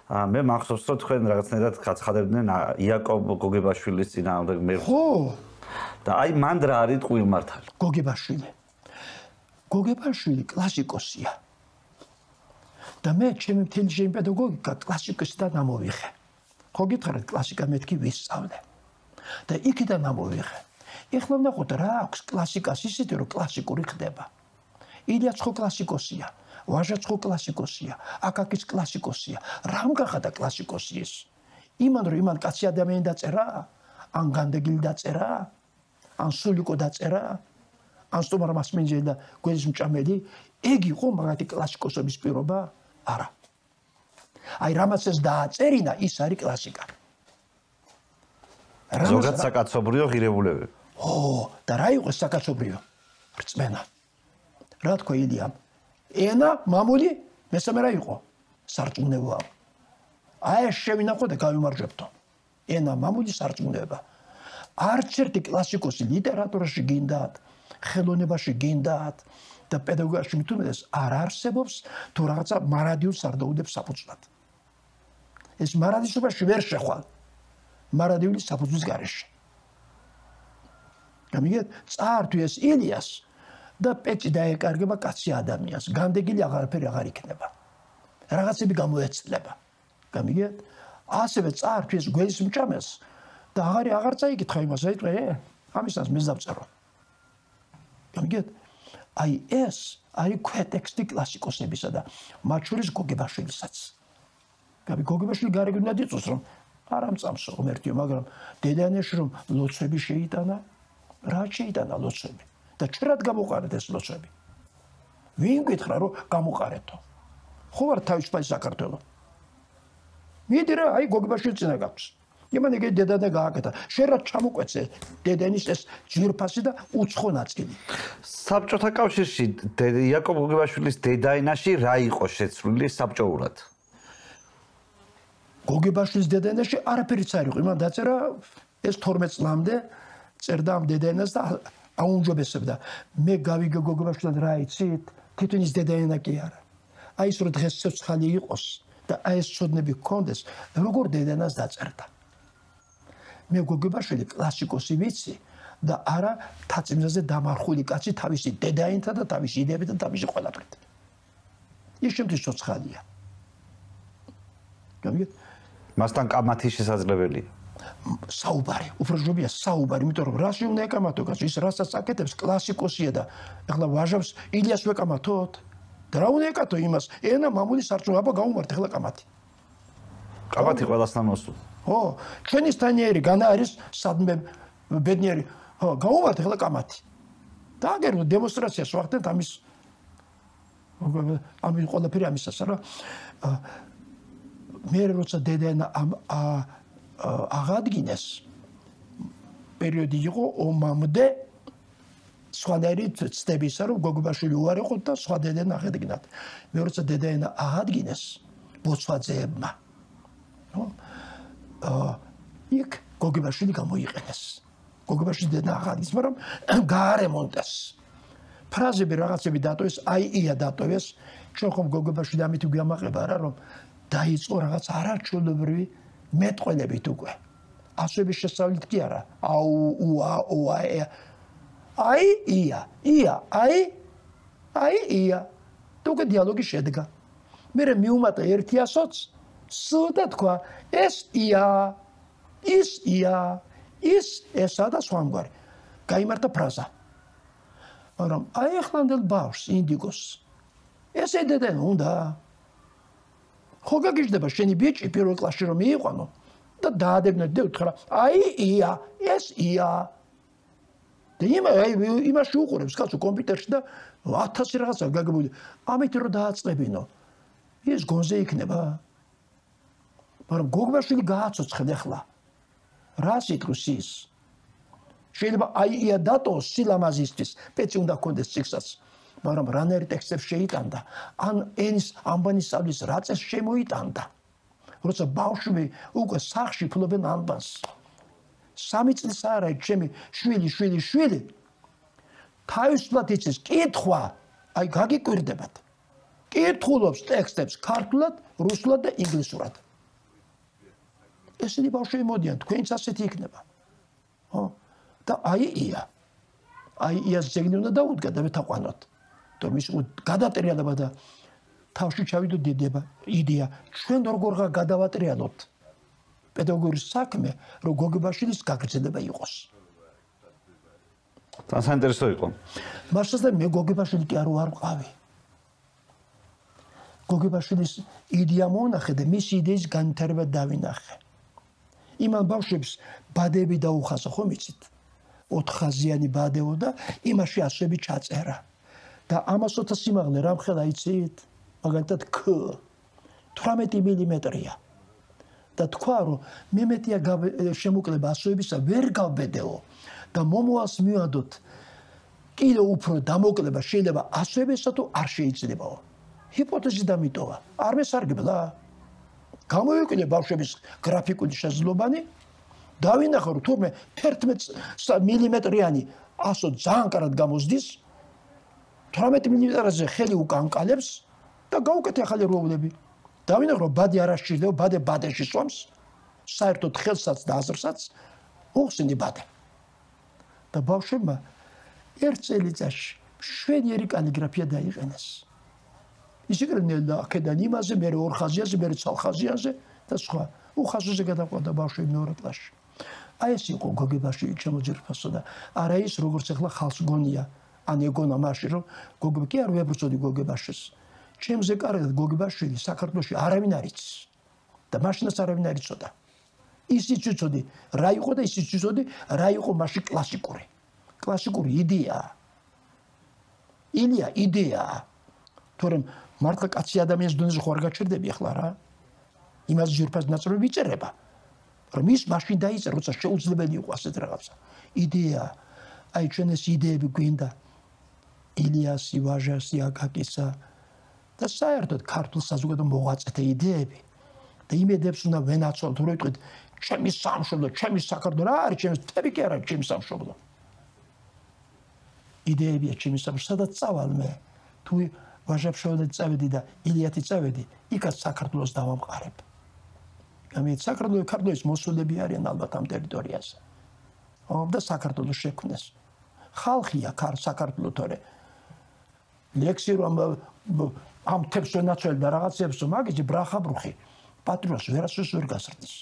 მე მახსოვს რომ თქვენ რაღაცნაირად გაცხადებდნენ იაკობ გოგებაშვილის წინააღმდეგ მე ხო და აი მან რა არის ტყუილმართალი გოგებაშვილი კლასიკოსია და მე ჩემი მთელი ჩემი პედაგოგიკა კლასიკოსიდან ამოვიღე ხო გითხარით კლასიკა მეთქი ვისწავლე და იქიდან ამოვიღე ეხლა ვნახოთ რა აქვს კლასიკას ისეთი რომ კლასიკური ხდება ილიაც ხო კლასიკოსია ვაჟაც ხო კლასიკოსია აკაკიც კლასიკოსია რამ გახადა კლასიკოსი ეს იმან რომ იმან კაცი ადამიანი დაწერა ან განდეგილი დაწერა ან სულიკო დაწერა ან სტუმარ მასმენჯელი და გვერის მჭამელი ეგ იყო მაგათი კლასიკოსობის პირობა არა აი რამაც ეს დააწერინა ის არის კლასიკა ზოგადად საკაცობრიო ღირებულებები და რა იყო საკაცობრიო რწმენა რა თქვა ილიამ ენა მამული მესამე რა იყო სარწმუნოება აი შევინახო და გავიმარჯვებთო ენა მამული სარწმუნოება არც ერთი კლასიკოსი ლიტერატურაში გინდათ ხელოვნებაში გინდათ და პედაგოგიაში მithumedes არ არსებობს თუ რაღაცა მარადიულ სარდაუდებს საფუძვლად ეს მარადისობაში ვერ შეხვალ მარადიული საფუძვლის გარეშე გამიგეთ წაართვი ეს ილიას და პეჭი დაეკარგება კაცი ადამიანს განდეგილი აღარაფერი აღარ იქნება რაღაცები გამოეცლება გამიგეთ ასევე წაართვი ეს გველის მჭამელს და აღარ წაიკითხა იმას აიტყვე ამისას მე დავწერო გამიგეთ აი ეს არის ქვეტექსტი კლასიკოსებისა და მათ შორის გოგებაშვილისაც გოგებაშვილი გარეგნულად იწვევს რომ არ ამწამსო ღმერთიო მაგრამ დედანეში რომ ლოცვები შეიტანა რა შეიტანა ლოცვები და ჭრად გამოყარეთ ეს ლოცვები ვინ გითხრა რომ გამოყარეთო ხო არ თავისუფალი საქართველო მიდი რა აი გოგებაშვილი წინა გაქვს იმან ეგ დედანა გააკეთა შენ რა ჩამოკვეცე დედანის ეს ჯირფასი და უცხო ნაწილი საბჭოთა კავშირში იაკობ გოგებაშვილის დედაენაში რა იყო შეცვლილი საბჭოურად გოგებაშვილის დედაენაში არაფერიც არ იყო იმან დაწერა ეს 12 წლამდე წერდა ამ დედაენას და აუნჯობესებდა მე გავიგე გოგებაშვილთან რა იცით თვითონ ის დედაენა კი არა აი ეს რომ დღეს ცოცხალი იყოს და აი ეს ცოდნები გქონდეს როგორ დედაენას დაწერდა მე გოგებაშვილი კლასიკოსი ვიცი და არა თაციმზაზე დამარხული კაცი თავისი დედაენთა და თავისი იდეებით და თავისი ყველაფრით ის შემთხვევით ცოცხალია გამიგეთ მასთან კამათი შესაძლებელია საუბარი უფრო ჯობია საუბარი იმიტომ რომ რაში უნდა ეკამათო კაცი ის რასაც აკეთებს კლასიკოსია და ახლა ვაჟებს ილიას ვეკამათოთ და რა უნდა ეკათო იმას ენა მამული სარწმუნოება გაუმართ ახლა კამათი ყველასთან მოსულ ხო ჩვენისთანიერი განა არის სადმე ბედნიერი ხო გაუმართ ახლა კამათი და აგერ დემონსტრაციას ვახდენთ ამის ყველაფერი ამისას რა მე როცა დედაენა აღადგინეს პერიოდი იყო ომამდე სხვადასხვა ცდებისა რომ გოგებაშვილი უარი იყო და სხვა დედაენა აღედგინათ მე როცა დედაენა აღადგინეს ბოცვაძეებმა იქ გოგებაშვილი გამოიყენეს გოგებაშვილი დედაენა აღადგინეს მაგრამ გაარემონტეს ფრაზები რაღაცები დატოვეს აი ია დატოვეს ჩვენ ხომ გოგებაშვილი ამით გვიამაყება რა რომ დაიწყო რაღაც არაჩვეულებრივი მეტყველებით უკვე ასოების შესწავლით კი არა აუ უა ოა აი ია აი ია თუ უკვე დიალოგი შედგა მე მიუმატა 100-ს სუდა თქვა ეს ია ის ია ის ესა და სხვამგვარი გაიმართა ფრაზა მაგრამ აი ახლანდელ ბავშვს ინდიგოს ესე დედენ უნდა ხო გაგიჟდება შენი ბიჭი პირველ კლასში რომ მიიყვანო და დაადებინეთ და უთხრა აი ია ეს ია და იმაში უყურებს კაცო კომპიუტერში და 1000 რაღაცა გაგებული ამით რომ დააწყებინო ის გონზე იქნება მაგრამ გოგებაშვილი გააცოცხლ ახლა რა სიტყვის ის შეიძლება აი ია დატოს სილამაზისთვის პეცი უნდა კონდეს ციხსაც მაგრამ რანერი ტექსტებს შეიტანდა ან ენის ამბანის სწავლის რაწეს შემოიტანდა როცა ბავშვი უკვე სახში ფლობენ ამბანს 3 წლის არა ჩემი შვილი თავისუფლად იცის კითხვა აი გაგიკვირდებათ კითხულობს ტექსტებს ქართულად რუსულად და ინგლისურად ესენი ბავშვები მოდიან, თქვენიც ასეთი იქნება. ხო? და აი იას ზეგნი უნდა დაუდგა და მეთაყვანოთ. თუმცა ის გადატრიალება და თავში ჩავიდო იდეა, ჩვენ როგორღა გადავატრიალოთ პედაგოგის საქმე, რომ გოგებაშვილის გაგრძელება იყოს. თან საინტერესო იყო. მაშასთან მე გოგებაშვილი კი არ ვყავი. გოგებაშვილის იდეა მონახე და მის იდეის განვითარება დავინახე. იმან ბავშვებს ბადები დაუხაზა, ხომ იცით? 4 ხაზიანი ბადეო და იმაში ასოები ჩაწერა. და ამასოთა სიმაღლე რამხელა იცით? მაგალითად K 18 მმ-ია. და თქვა რომ მე მეტია შემოკლება ასოებისა ვერ გავბედეო და მომავალს მივადოთ კიდევ უფრო დამოკლება შეიძლება ასოებისა თუ არ შეიძლებაო. ჰიპოთეზი დამიტოვა. არ მესარგებლა. გამოვიკვირე ბავშვების გრაფიკული შესაძლებლობანი, დავინახე რომ თურმე 11 მმ-იანი ასო ძალიან კარგად გამოსდის, 18 მმ-ზე ხელი უკანკალებს და გავუკეთე ახალი როლები. დავინახე რომ ბადე არ აღჭირდება, ბადეში სვამს, საერთოდ ხელსაც და აზრსაც უხსენი ბადე. და ბავშვებმა ერთ წელიწადში შვედიერი კალიგრაფია დაიყენეს. ისიკრნენ აქედან იმაზე, მე 2 ხაზიანზე, მე 3 ხაზიანზე და სხვა. უხაზოზე გადაყვანდა ბავშვები მეორე კლასში. აი ეს იყო გოგებაშვილი ჩემოძირფასო და არა ის როგორც ახლა ხალხს გონია, ან ეგონა მაშინ რომ გოგები კი არ ვებრწოდი გოგებაშვილს. ჩემზე კარგად გოგებაშვილი საქართველოში არავინ არ იცის და მაშინაც არავინ არ იცოდა. ისიც იცოდი რა იყო და ისიც იცოდი რა იყო მაშინ კლასიკური იდეაა. იდეაა. თორემ მართლა კაცი ადამიანის დონეზე ხო არ გაჩერდები ახლა რა? იმას ძირფას ნაწილები იწერება. რომ ის მაშინ დაიწერა, როცა შეუძლებელი იყო ასეთ რაღაცა. იდეა. აი ჩვენ ეს იდეები გვინდა. ილიასი, ვაჟასი, აკაკისა და საერთოდ ქართულ საზოგადო მოღვაწეთა იდეები. და იმედებს უნდა ვენაცვალოთ, რომ ვიტყვით, ჩემი სამშობლო, ჩემი საქართველო რა არის, ჩემი თები კი არა, ჩემი სამშობლო. იდეებია ჩემი სამშობლო, სადაც წავალ მე. თუ ვაჟაფშაველად წავედი და ილიათი წავედი, იქაც საქართველოს დავამყარებ. ამით საქართველოს მოსულები არიან ალბათ ამ ტერიტორიაზე. და საქართველოს შექმნეს. ხალხია საქართველო თორე. ლექსი რომ ამ თებს ვენაცვალებ და რაღაცებს მაგიჯი ბრახაბრუხი პატრიოტს ვერასდროს ვერ გასრდის.